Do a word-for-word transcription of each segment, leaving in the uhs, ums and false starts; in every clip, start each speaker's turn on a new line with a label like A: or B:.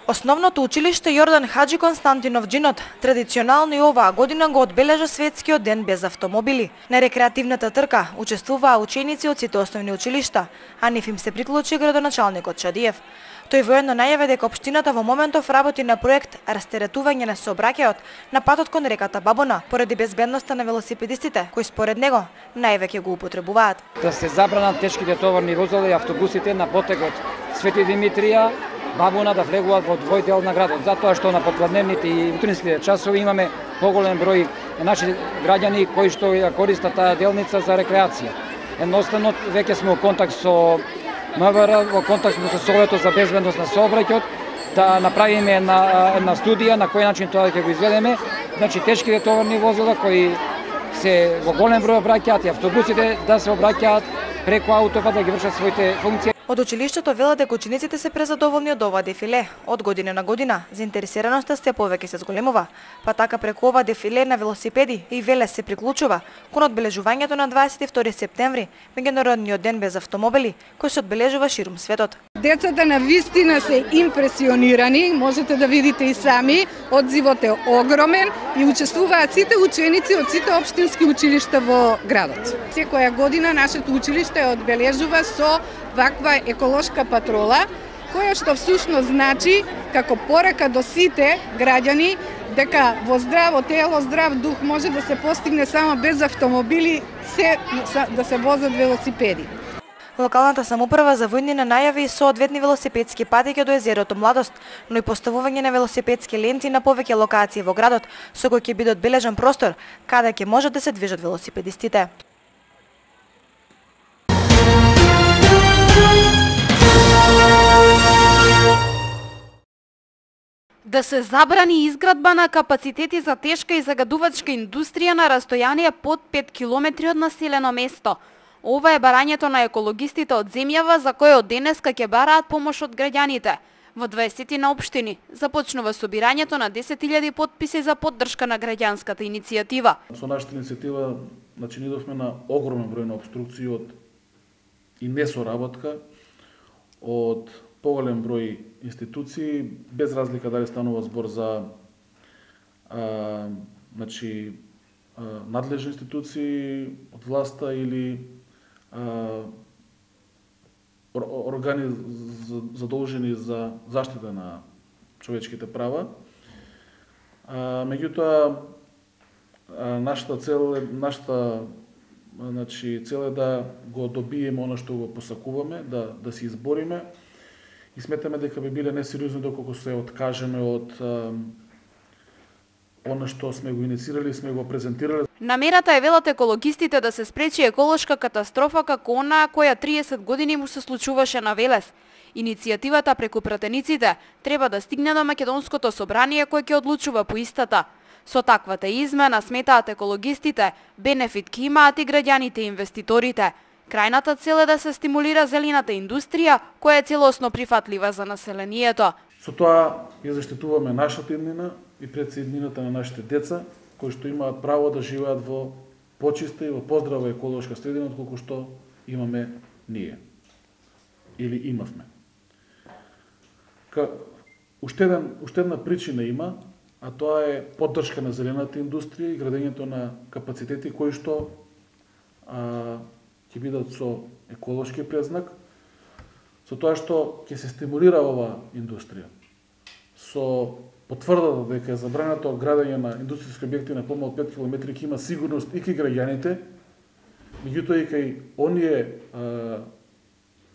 A: Основното училиште Јордан Хаџи Константинов Џинот традиционално и оваа година го одбележа светскиот ден без автомобили. На рекреативната трка учествуваа ученици од сите основни училишта, а нив им се приклучи градоначалникот Чадиев. Тој воедно најави дека општината во моментов работи на проект растеретување на сообраќајот на патот кон реката Бабона, поради безбедноста на велосипедистите, кои според него највеќе го употребуваат.
B: Да се забранат тешките товарни возила и автобусите на потегот Свети Димитрија, Бабона да влегуваат во двој дел на градот, затоа што на попладневните и утринските часови имаме поголем број наши граѓани кои што ја користат таа делница за рекреација. Едноставно веќе сме во контакт со МВР, во контакт со Советот за безбедност на сообраќајот, да направиме една, една студија на кој начин тоа ќе го изведеме. Значи тешките товарни возила кои се во голем број обраќаат и автобусите да се обраќаат преку аутопат да ги вршат своите функции.
A: Од училиштето велат дека учениците се презадоволни од ова дефиле. Од година на година заинтересираноста се повеќе се зголемува, па така преку ова дефиле на велосипеди и велес се приклучува кон одбележувањето на дваесет и втори септември, меѓународниот ден без автомобили, кој се одбележува ширум светот.
C: Децата на вистина се импресионирани, можете да видите и сами, одзивот е огромен и учествуваат сите ученици од сите општински училишта во градот. Секоја година нашето училиште одбележува со ваква еколошка патрола, која што всушност значи како порака до сите граѓани дека во здраво тело, здрав дух може да се постигне само без автомобили, се да се возат велосипеди.
A: Локалната самоуправа за војнина најави и соодветни велосипедски патеки до езерото Младост, но и поставување на велосипедски ленти на повеќе локации во градот, со кој ќе биде одбележан простор каде ќе можат да се движат велосипедистите.
D: Да се забрани изградба на капацитети за тешка и загадувачка индустрија на растојание под пет километри од населено место. Ова е барањето на екологистите од земјава за кои од денеска ќе бараат помош од граѓаните. Во дваесет на општини започнува собирањето на десет илјади потписи за поддршка на граѓанската иницијатива.
E: Со нашата иницијатива начинидовме на огромен број на обструкции од и несоработка од поголем број институции, без разлика дали станува збор за а, значи, а, надлежни институции од власта или а, органи задолжени за заштита на човечките права. А, меѓутоа, нашата цел е, нашата значи, цел е да го добиеме оно што го посакуваме, да, да се избориме. И сметаме дека би биле несериозни доколку се откажеме од а, она што сме го инициирали и сме го презентирали.
D: Намерата е, велат екологистите, да се спречи еколошка катастрофа како онаа која триесет години му се случуваше на Велес. Иницијативата преку пратениците треба да стигне до Македонското собрание кој ќе одлучува по истата. Со таквата измена, сметаат екологистите, бенефит ќе имаат и граѓаните и инвеститорите. Крајната цел е да се стимулира зелената индустрија, која е целосно прифатлива за населението.
E: Со тоа ја заштитуваме нашата иднина и пред се иднината на нашите деца, кои што имаат право да живеат во почиста и во поздрава еколошка средина, отколку што имаме ние. Или имавме. Ка, уште, еден, уште една причина има, а тоа е поддршка на зелената индустрија и градењето на капацитети кои што а, ќе бидат со еколошки презнак, со тоа што ќе се стимулира оваа индустрија. Со потврдата дека е забрането градење на индустријски објекти на помал пет километри ќе има сигурност и кај граѓаните, меѓутоа и кај оние а,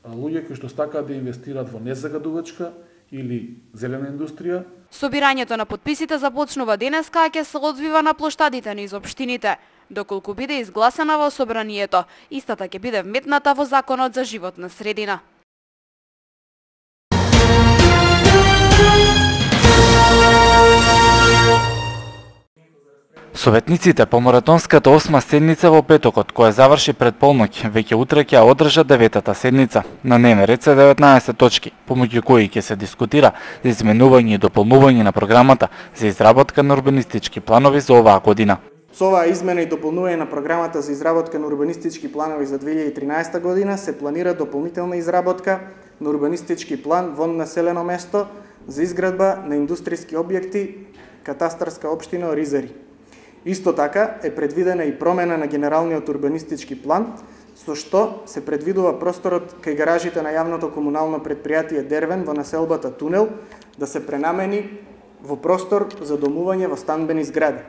E: а, луѓе кои што стакаат да инвестираат во незагадувачка или зелена индустрија.
D: Собирањето на потписите започнува денеска, а ќе се одвива на плоштадите низ општините. Доколку биде изгласана во собранието, истата ќе биде вметната во Законот за животна средина.
F: Советниците по маратонската осма седница во петокот, која заврши пред полноќ, веќе утре ќе одржат деветата седница. На дневен ред се деветнаесет точки, помеѓу кои ќе се дискутира за изменување и дополнување на програмата за изработка на урбанистички планови за оваа година.
G: Со оваа измена и дополнување на програмата за изработка на урбанистички планови за две илјади и тринаесета година се планира дополнителна изработка на урбанистички план во населено место за изградба на индустријски објекти катастарска општина Оризари. Исто така е предвидена и промена на генералниот урбанистички план, со што се предвидува просторот кај гаражите на јавното комунално предпријатие Дервен во населбата Тунел да се пренамени во простор за домување во станбени згради.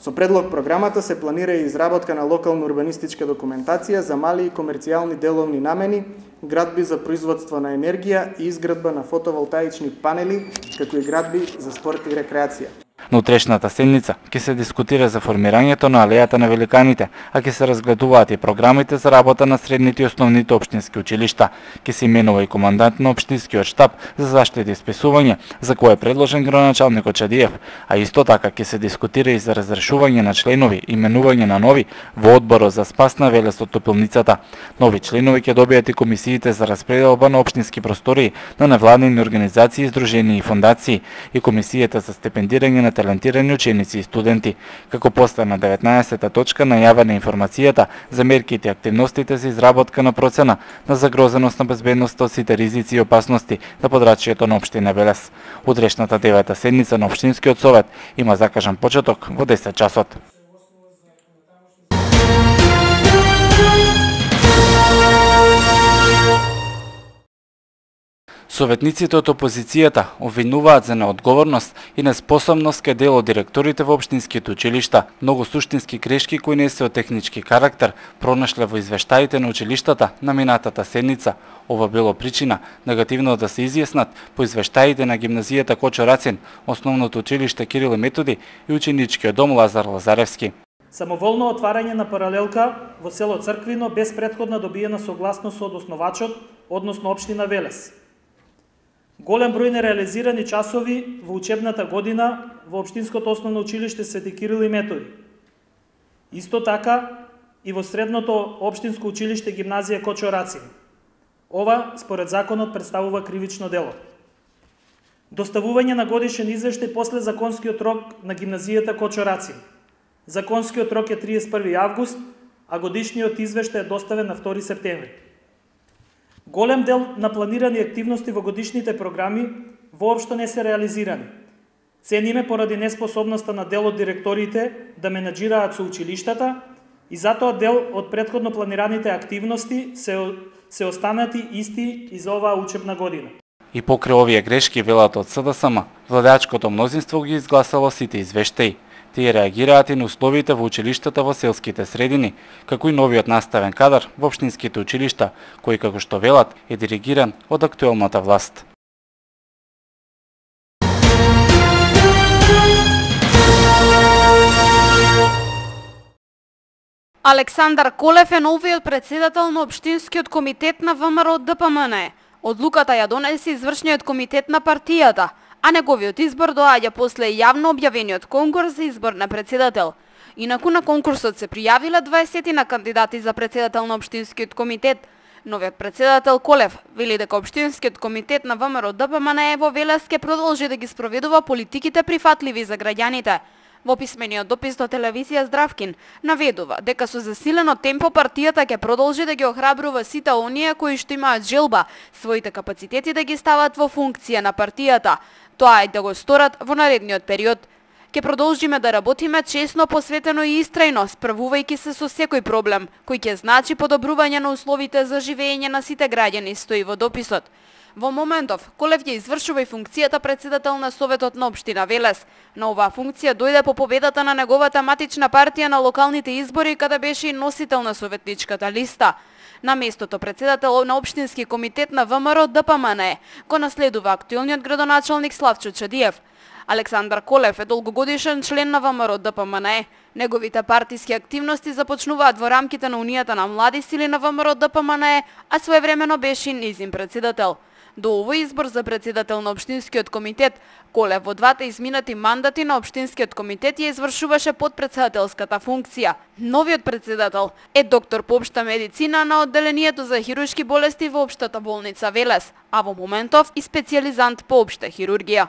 G: Со предлог програмата се планира и изработка на локална урбанистичка документација за мали и комерцијални деловни намени, градби за производство на енергија и изградба на фотоволтаични панели, како и градби за спорт и рекреација.
F: На утрешната седница ќе се дискутира за формирањето на алејата на великаните, а ќе се разгледуваат и програмите за работа на средните и основните општински училишта. Ќе се именува и командант на општинскиот штаб за заштита и спасување, за кој е предложен градоначалникот Чадиев, а исто така ќе се дискутира и за разрешување на членови и именување на нови во одборот за спас на Велес од топилницата. Нови членови ќе добијат и комисиите за распределба на општински простории на невладини организации, здруженија и фондации и комисијата за стипендирање на талентирани ученици и студенти. Како постана деветнаесета точка најавена информацијата за мерките и активностите за изработка на процена на загрозеност на безбедноста од сите ризици и опасности на подрачјето на општина Велес. Утрешната девета седница на општинскиот совет има закажан почеток во десет часот. Советниците од опозицијата обвинуваат за неодговорност и неспособност кај дел од директорите во општинските училишта. Многу суштински грешки кои не се од технички карактер пронашле во извештаите на училиштата на минатата седница. Ова било причина негативно да се изјаснат по извештаите на гимназијата Кочо Рацин, основното училиште Кирил и Методи и ученичкиот дом Лазар Лазаревски.
H: Самоволно отварање на паралелка во село Црквино без претходна добиена согласност од основачот, односно општина Велес. Голем број нереализирани часови во учебната година во општинското основно училиште Свети Кирил и Методи. Исто така и во средното општинско училиште гимназија Кочо Рацин. Ова, според законот, представува кривично дело. Доставување на годишен извештај после законскиот рок на гимназијата Кочо Рацин. Законскиот рок е триесет и први август, а годишниот извештај е доставен на втори септември. Голем дел на планирани активности во годишните програми воопшто не се реализирани. Цениме поради неспособноста на дел од директорите да менаџираат со училиштата и затоа дел од претходно планираните активности се, се останати исти и за оваа учебна година.
F: И покрај овие грешки, велат од СДСМ, владеачкото мнозинство ги изгласало сите извештаи. Тие реагираат и на условите во училиштата во селските средини, како и новиот наставен кадар во општинските училишта, кој, како што велат, е диригиран од актуелната власт.
D: Александар Колев е новиот председател на општинскиот комитет на ВМРО ДПМН. Одлуката ја донесе извршниот комитет на партијата, а неговиот избор доаѓа после јавно објавениот конкурс за избор на председател. Инаку на конкурсот се пријавиле дваесет на кандидати за председател на општинскиот комитет. Новиот председател Колев вели дека општинскиот комитет на ВМРО ДПМН во Велес ќе продолжи да ги спроведува политиките прифатливи за граѓаните. Во писмениот допис до телевизија Здравкин наведува дека со засилено темпо партијата ќе продолжи да ги охрабрува сите оние кои што имаат желба своите капацитети да ги стават во функција на партијата. Тоа е да го сторат во наредниот период. Ке продолжиме да работиме честно, посветено и истрајно, справувајќи се со секој проблем, кој ќе значи подобрување на условите за живење на сите граѓани, стои во дописот. Во моментов, Колев ја извршува и функцијата председател на Советот на општина Велес. На оваа функција дојде по победата на неговата матична партија на локалните избори, каде беше и носител на советничката листа. На местото председател на општински комитет на ВМРО ДПМН го наследува актуелниот градоначалник Славчо Чадиев. Александар Колев е долгогодишен член на ВМРО ДПМН. Неговите партиски активности започнуваат во рамките на Унијата на млади сили на ВМРО ДПМН, а своевремено беше и нејзин председател. До овој избор за председател на општинскиот комитет, Колев во двата изминати мандати на општинскиот комитет ја извршуваше подпредседателската функција. Новиот председател е доктор по општа медицина на одделението за хируршки болести во општата болница Велес, а во моментов и специјализант по општа хирургија.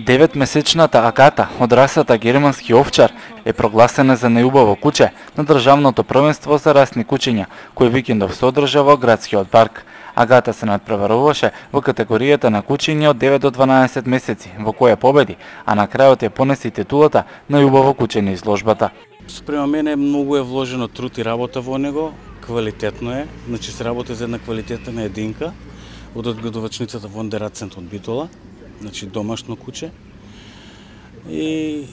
F: Деветмесечната Агата од расата германски овчар е прогласена за најубаво куче на државното првенство за расни кучиња, кој викендов се одржа во градскиот парк. Агата се надпреваруваше во категоријата на кучиња од девет до дванаесет месеци, во која победи, а на крајот ја понесе и титулата најубаво куче на изложбата.
I: Спрема мене многу е вложено труд и работа во него, квалитетно е, значи се работи за една квалитетна единка од одгледувачницата Вондерацент од Битола, значи домашно куче и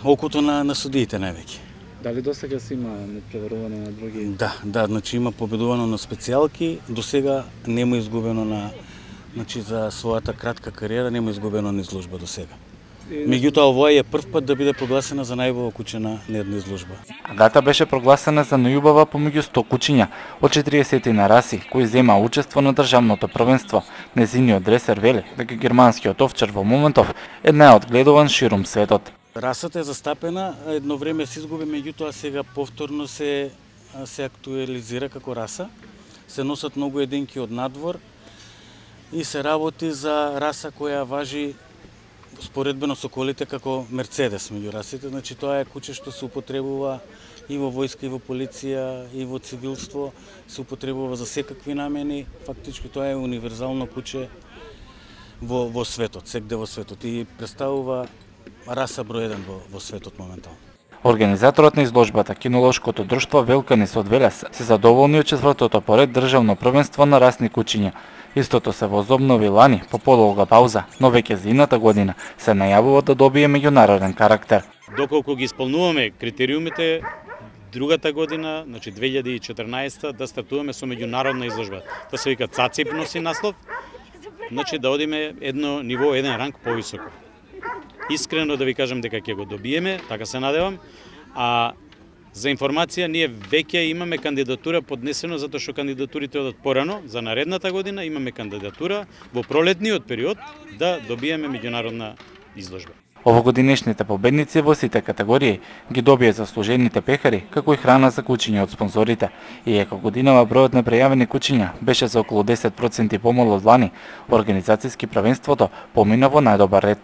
I: окото на, на судиите највеќе.
E: Дали до сега си има надпреварувано на други?
I: Да, да, значи има победувано на специјалки, до сега нема изгубено на, значи за својата кратка кариера нема изгубено на изложба до сега. Меѓутоа овој е прв пат да биде прогласена за најубава куче на една изложба.
F: Агата беше прогласена за најубава помеѓу сто кучиња од четириесет на раси кои зема учество на државното првенство. Незиниот дресер вели дека германскиот овчар во моментов е најодгледуван ширум светот.
I: Расата е застапена, едно време се изгуби, меѓутоа сега повторно се се актуализира како раса. Се носат многу единки од надвор и се работи за раса која важи споредбено со колите како Мерцедес меѓу расите, значи тоа е куче што се употребува и во војска, и во полиција, и во цивилство, се употребува за секакви намени, фактички тоа е универзално куче во, во светот, секде во светот и представува раса број еден во, во светот моментално.
F: Организаторот на изложбата, кинолошкото друштво Велканис од Велес, се задоволни од четвртото поред државно првенство на расни кучиња. Истото се возобнови лани по подолга пауза, но веќе за ината година се најавува да добие меѓународен карактер.
J: Доколку ги исполнуваме критериумите, другата година, значи две илјади и четрнаесета, да стартуваме со меѓународна изложба. Тоа се вика ЦАЦИП носи наслов, значи да одиме едно ниво, еден ранг повисоко. Искрено да ви кажам дека ќе го добиеме, така се надевам, а за информација, ние веќе имаме кандидатура поднесено затоа што кандидатурите одат порано за наредната година, имаме кандидатура во пролетниот период да добиеме меѓународна изложба.
F: Овогодинешните победници во сите категории ги добија заслужените пехари, како и храна за кучиња од спонзорите. И еко годинава бројот на прејавени кучиња беше за околу десет проценти помал од лани, организацијски првенството помина во најдобар ред.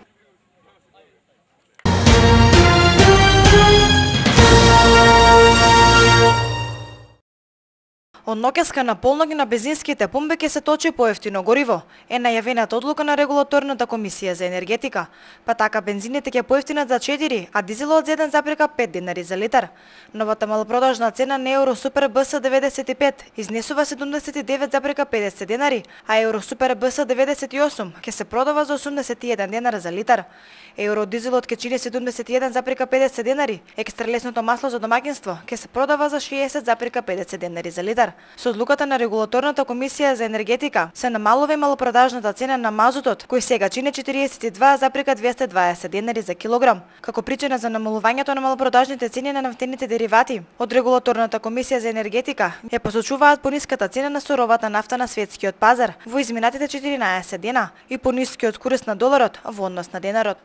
A: Од ноќеска на полноќ на бензинските пумпи ќе се точи поевтино гориво, е најавената одлука на регулаторната комисија за енергетика. Па така бензините ќе поевтинат за четири, а дизелот за еден запирка пет денари за литар. Новата малопродажна цена на Евро Супер Б С деветдесет и пет изнесува седумдесет и девет запирка педесет денари, а Евро Супер Б С деветдесет и осум ќе се продава за осумдесет и еден денар за литар. Евро дизелот ќе чини седумдесет и еден запирка педесет денари, екстра лесното масло за домаќинство ќе се продава за шеесет запирка педесет денари за литар. Со одлуката на регулаторната комисија за енергетика се намалува и малопродажната цена на мазутот, кој сега чини четириесет и два запирка двесте дваесет денари за килограм. Како причина за намалувањето на малопродажните цени на нафтените деривати, од регулаторната комисија за енергетика ја посочуваат пониската цена на суровата нафта на светскиот пазар во изминатите четиринаесет дена и понискиот курс на доларот во однос на денарот.